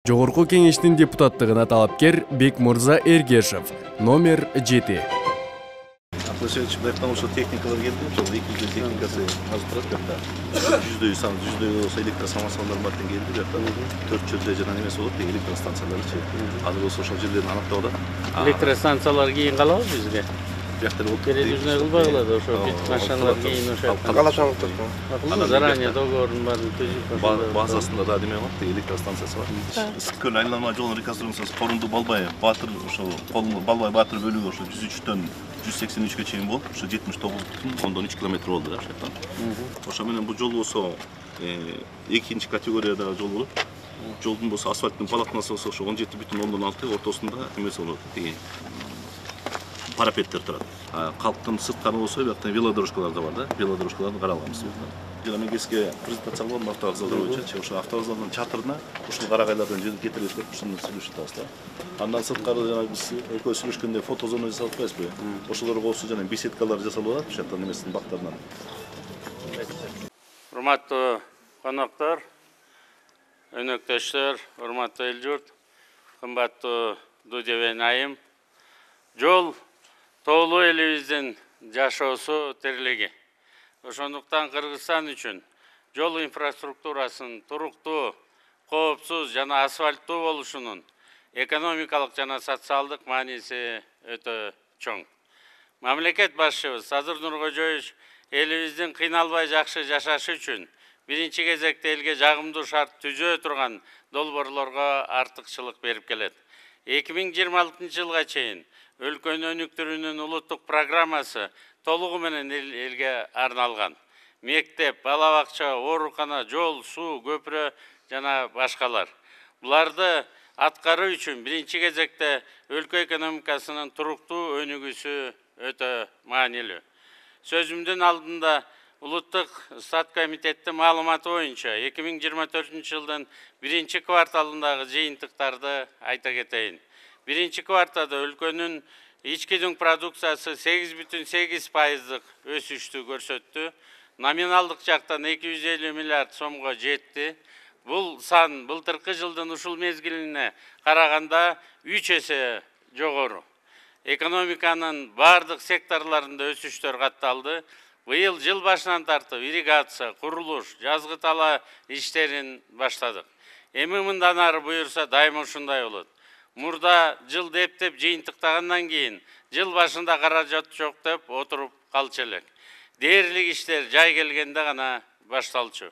Жогорку кеңештин депутаттыгына талапкер Бекмурза Эргешев, номер 7. Акылышевич, бияктан ошо техникалар келди, ошол 200 техникасы азыр турат биякта. 100 болсо электросамосвалдар бар келди, биякта 400 жана немеси болот, электростанцияларчы. Азыр болсо ошол жерлерин аныктап атат. Электростанциялар кийин калабы бизге? Биякта болот. Керекүүсүнө кылбай калат, ошо бит машиналар кийин ошо. Каласаңыз заранее договордун баарын түзүп. Базасында да неме бар, электростанциясы бар. Ысык-көл айланма жолун реконструкциясы Корунду Балбай Баатыр ошо Балбай Баатыр бөлүгү ошо 103төн 183-кө чейин болуп, ошо 79,3 километр болду ошол жактан. Ошо менен бул жол болсо экинчи категориядагы жол болот. Жолдун болсо асфальттын полотнасы болсо ошо 17,6, ортосунда эмеси болот, тиги парапеттер турат. Калктын сырткары болсо биякта велодорожкалар да бар да, велодорожкаларды каралганбыз. Жана мен кеске презентация кылдым автовокзал боюнча, ошо автовокзалдын чатырына ушул карагайлардан кетирип өтүп, ушуну сүйлөшүп атабыз да. Андан сырткары жана биз экөөбүз сүйлөшкөндө фотозона жасап атпайбызбы? Ошолорго коопсуз жана беседкалар жасалып атат, ошол жактан эмесинин бактарынан. Урматтуу коноктор, өнөктөштөр, урматтуу эл журт, кымбаттуу Дудебен айым. Жол тоолуу элибиздин жашоосу, тирилиги. Ошондуктан Кыргызстан үчүн жол инфраструктурасын туруктуу, коопсуз жана асфальттуу болушунун экономикалык жана социалдык мааниси өтө чоң. Мамлекет башчыбыз Садыр Нуркожоевич элибиздин кыйналбай жакшы жашашы үчүн биринчи кезекте элге жагымдуу шарт түзө турган долбоорлорго артыкчылык берип келет. 2026 жылга чейин өлкөнү өнүктүрүүнүн улуттук программасы толугу менен элге арналган. Мектеп, бала бакча, оорукана, жол, суу, көпүрө жана башкалар. Буларды аткаруу үчүн биринчи кезекте өлкө экономикасынын туруктуу өнүгүүсү өтө маанилүү. Сөзүмдүн алдында Улуттук Стат комитеттин маалыматы боюнча 2024 жылдын биринчи кварталындагы жыйынтыктарды айта кетейин. Биринчи кварталда өлкөнүн ички дүң продукциясы 8,8% өсүштү көрсөттү. Номиналдык жактан 250 миллиард сомго жетти. Бул сан былтыркы жылдын ушул мезгилине караганда 3 эсе жогору. Экономиканын бардык секторларында өсүштөр катталды. Быйыл жыл башынан тартып ирригация, курулуш, жазгы тала иштерин баштадык. Эми мындан ары буюрса дайыма ушундай болот. Мурда жыл деп жыйынтыктагандан кийин жыл башында каражат жок деп отуруп калчу элек. Дээрлик иштер жай келгенде гана башталчу.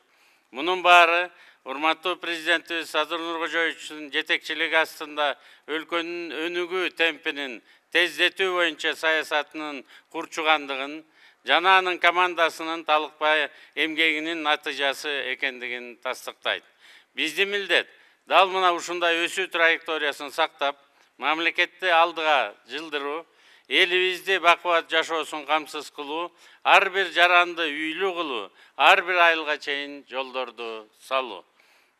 Мунун баары урматтуу президентибиз Садыр Нуркожоевичтин жетекчилиги астында өлкөнүн өнүгүү темпинин тездетүү боюнча саясатынын курчугандыгын жана анын командасынын талыкпай эмгегинин натыйжасы экендигин тастыктайт. Биздин милдет дал мына ушундай өсүү траекториясын сактап, мамлекетти алдыга жылдыруу, элибизди бакубат жашоосун камсыз кылуу, ар бир жаранды үйлүү кылуу, ар бир айылга чейин жолдорду салуу.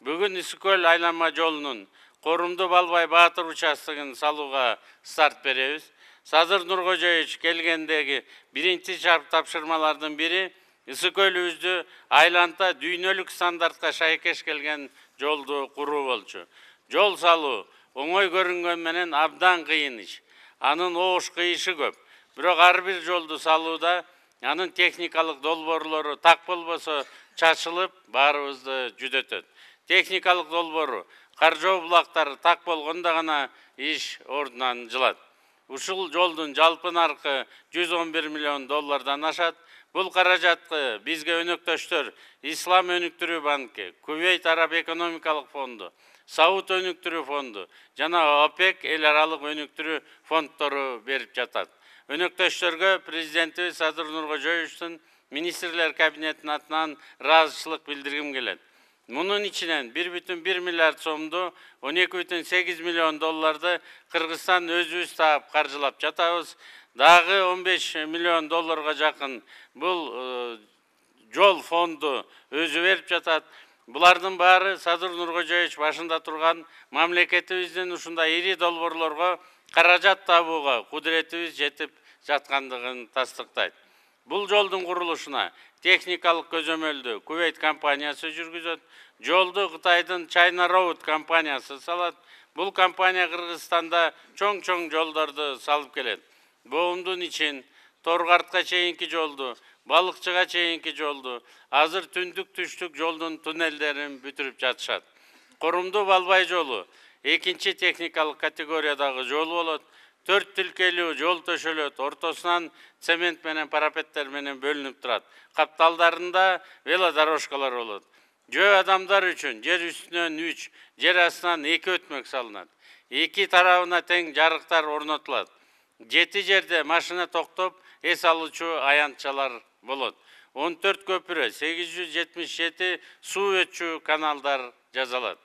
Бүгүн Ысык-көл айланма жолунун Корумду Балбай Баатыр участогун салууга старт беребиз. Садыр Нуркожоевич келгендеги биринчи тапшырмалардын бири Ысык-көлүбүздү айланта дүйнөлүк стандартка шайкеш келген жолду куруу болчу. Жол салуу оңой көрүнгөн менен абдан кыйын иш. Анын оош кыйышы көп. Бирок ар бир жолду салууда анын техникалык долбоорлору так болбосо чачылып, баарыбызды жүдөтөт. Техникалык долбоору, каржоо булактары так болгондо гана иш ордунан жылат. Ушул жолдун жалпы наркы $111 миллион ашат. Бул каражатты бизге өнөктөштөр Ислам өнүктүрүү банки, Кувейт Араб экономикалык фонду, Сауд өнүктүрүү фонду жана ОПЕК эл аралык өнүктүрүү фонддору берип жатат. Өнөктөштөргө президентибиз Садыр Нуркожоевичтин министрлер кабинетинин атынан ыраазычылык билдиргим келет. Мунун ичинен 1,1 миллиард сомду, $12,8 миллион Кыргызстан өзүбүз таап каржылап жатабыз. Дагы $15 миллион жакын бул жол фонду өзү берип жатат. Булардын баары Садыр Нуркожоевич башында турган мамлекетибиздин ушундай ири долбоорлорго каражат табууга кудуретибиз жетип жаткандыгын тастыктайт. Бул жолдун курулушуна техникалык көзөмөлдү Кувейт компаниясы жүргүзөт. жолду Кытайдын China Road компаниясы салат. Бул компания Кыргызстанда чоң жолдорду салып келет. Боомдун ичин, Торгартка чейинки жолду, Балыкчыга чейинки жолду, азыр түндүк түштүк жолдун туннелдерин бүтүрүп жатышат. Корумду Балбай жолу экинчи техникалык категориядагы жол болот. 4 тилкелүү жол төшөлөт, ортосунан цемент менен парапеттер менен бөлүнүп турат. Капталдарында велодорожкалар болот. Жөө адамдар үчүн жер үстүнөн 3, жер астынан 2 өтмөк салынат. 2 тарабына тең жарыктар орнотулат. 7 жерде машина токтоп, эс алуучу аянтчалар болот. 14 көпүрө, 877 суу өтчү каналдар жасалат.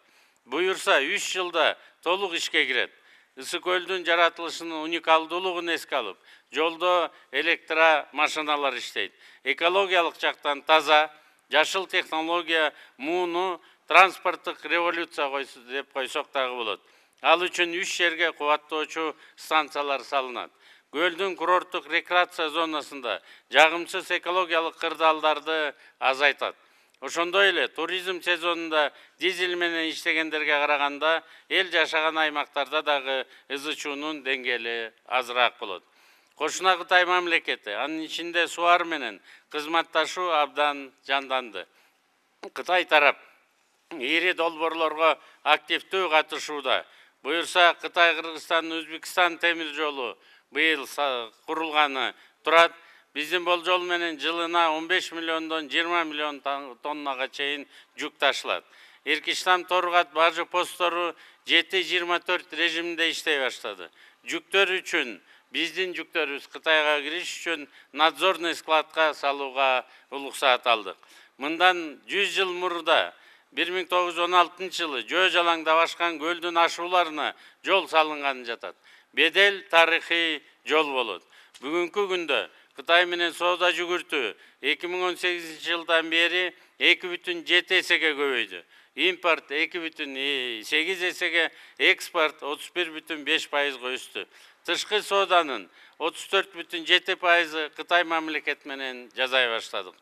Буюрса 3 жылда толук ишке кирет. Ысык көлдүн жаратылышынын уникалдуулугун эске алып, жолдо электромашиналар иштейт. Экологиялык жактан таза, жашыл технология, мууну транспорттук революция деп койсок дагы болот. Ал үчүн 3 жерге кубаттоочу станциялар салынат. Көлдүн курорттук рекреация зонасында жагымсыз экологиялык кырдаалдарды азайтат. Ошондой эле туризм сезонунда дизель менен иштегендерге караганда эл жашаган аймактарда дагы ызычуунун деңгээли азыраак болот. Кошуна Кытай мамлекети, анын ичинде сууар менен кызматташуу абдан жанданды. Кытай тарап ири долбоорлорго активдүү катышууда. Буюрса Кытай, Кыргызстан, Өзбекстан темир жолу быйыл курулганы турат. Биздин болжол менен жылына 15 миллиондон 20 миллион тоннага чейин жүк ташылат. Эркиштам Торгат бажы посттору 7-24 режиминде иштей баштады. Жүктөр үчүн биздин жүктөрүбүз Кытайга кириш үчүн надзорный складка салууга уруксаат алдык. Мындан 100 жыл мурда 1916 жылы жөө жалаңдап ашкан көлдүн ашууларына жол салынганы жатат. Бедел тарыхый жол болот. Бүгүнкү күндө Кытай менен соода жүгүртүү 2018 жылдан бери 2,7 эсеге көбөйдү. Импорт 2,8 эсеге, экспорт 31,5%га өстү. Тышкы сооданын 34,7%ы Кытай мамлекет менен жасай баштадык.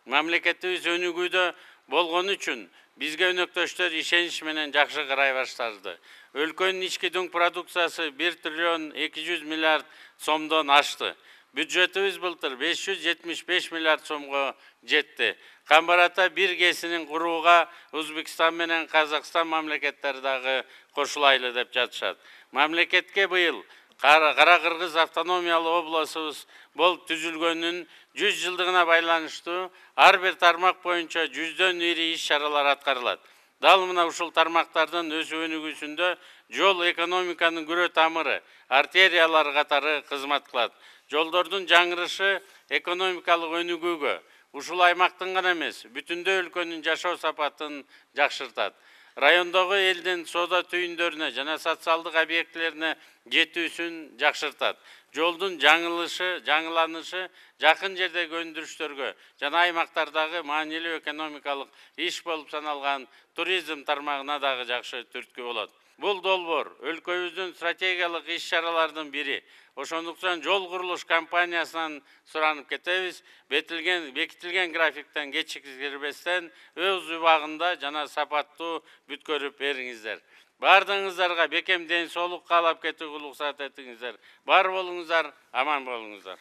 Мамлекетибиз өнүгүүдө болгон үчүн бизге өнөктөштөр ишенич менен жакшы карай баштады. Өлкөнүн ички дүң продукциясы 1 триллион 200 миллиард сомдон ашты. Бюджетибиз былтыр 575 миллиард сомго жетти. Камбарата бир кесинин курууга Өзбекстан менен Казакстан мамлекеттери дагы кошулайлы деп жатышат. Мамлекетке быйыл Кара Кыргыз автономиялуу облусубуз болуп түзүлгөнүнүн 100 жылдыгына байланыштуу ар бир тармак боюнча 100дөн ири иш-чаралар аткарылат. Дал мына ушул тармактардын өсүү өнүгүүсүндө жол экономиканын күрө тамыры, артериялар катары кызмат кылат. Жолдордун жаңырышы экономикалык өнүгүүгө, ушул аймактын гана эмес, бүтүндөй өлкөнүн жашоо сапатын жакшыртат. Райондогу элдин соода түйүндөрүнө жана социалдык объектилерине жетүүсүн жакшыртат. Жолдун жаңыланышы жакын жердеги өндүрүштөргө жана аймактардагы маанилүү экономикалык иш болуп саналган туризм тармагына дагы жакшы түрткү болот. Бул долбоор өлкөбүздүн стратегиялык иш-чаралардын бири. Ошондуктан жол курулуш компаниясынан суранып кетебиз, бекитилген графиктен кечикирбестен өз убагында жана сапаттуу бүткөрүп бериңиздер. Бардыгыңыздарга бекем ден соолук каалап кетүүгө уруксат этиңиздер. Бар болуңуздар, аман болуңуздар.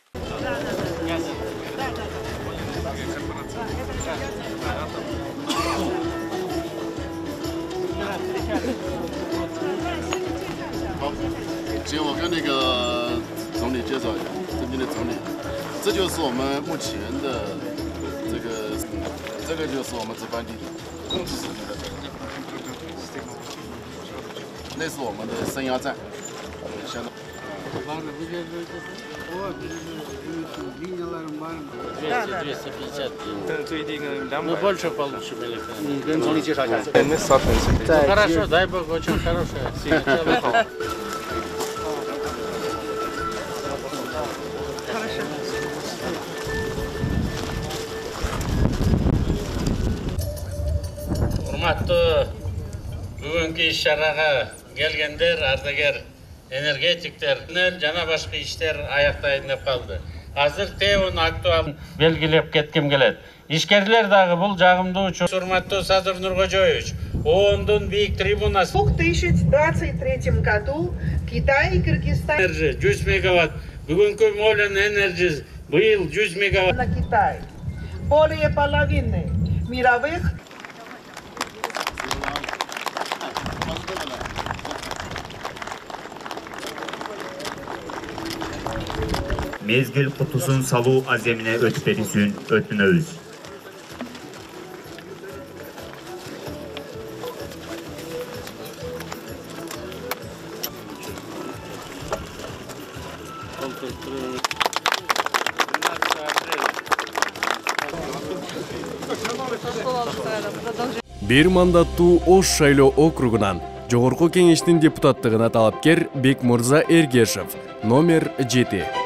我跟那个总理介绍一下，尊敬的总理，这就是我们目前的这个就是我们值班地图，那是我们的升压站，相当。Мы больше получим электроэнергию.跟总理介绍一下。Хорошо, дай бог, очень хорошая. Урматтуу бүгүнкү иш-чарага келгендер, ардагер энергетиктер, жана башка иштер аяктайын деп калды. Азыр ТЭОнун актуалын белгилеп кетким келет. Ишкерлер дагы бул жагымдуу учур. Урматтуу Садыр Нуркожоевич, ООНдун бийик трибунасы. В 2023 году Китай и Кыргызстан 100 мегаватт. Бүгүнкү Молен Energy быйыл 100 мегаватт. на Китай. Более половины мировых Mezgil kutusun salуу azemine өтпелисин өтүнөбүз. Бир мандаттуу Ош шайлоо округунан Жогорку кеңештин депутаттыгына талапкер Бекмурза Эргешев, номер 7.